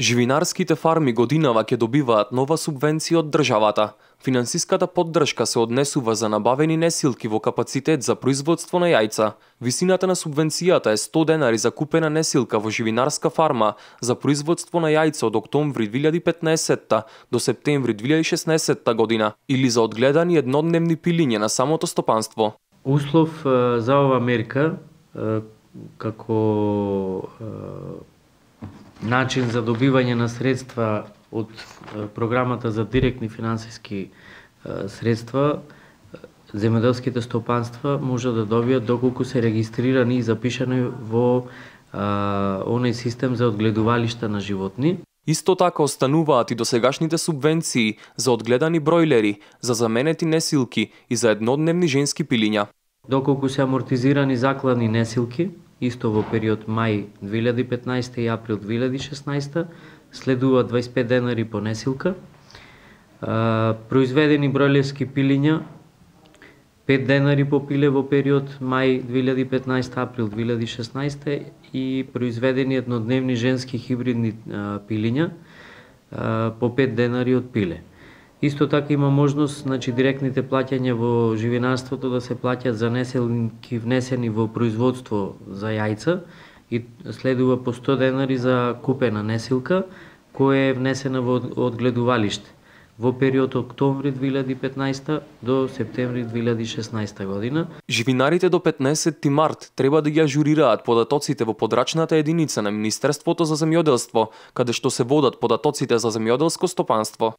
Живинарските фарми годинава ќе добиваат нова субвенција од државата. Финансиската поддршка се однесува за набавени несилки во капацитет за производство на јајца. Висината на субвенцијата е 100 денари за купена несилка во живинарска фарма за производство на јајца од октомври 2015 до септември 2016 година или за одгледани еднодневни пилиња на самото стопанство. Услов за ова мерка како начин за добивање на средства од програмата за директни финансиски средства, земјоделските стопанства може да добијат доколку се регистрирани и запишани во оној систем за одгледувалишта на животни. Исто така остануваат и досегашните субвенции за одгледани бројлери, за заменети несилки и за еднодневни женски пилиња. Доколку се амортизирани закладни несилки, исто во период мај 2015 и април 2016, следува 25 денари по несилка. Произведени бројлерски пилиња 5 денари по пиле во период мај 2015 април 2016 и произведени еднодневни женски хибридни пилиња по 5 денари од пиле. Исто така има можност, директните плаќања во живинарството да се плаќат за несилки внесени во производство за јајца и следува по 100 денари за купена несилка која е внесена во одгледувалиште во период октомври 2015 до септември 2016 година. Живинарите до 15 март треба да ги ажурираат податоците во подрачната единица на Министерството за земјоделство, каде што се водат податоците за земјоделско стопанство.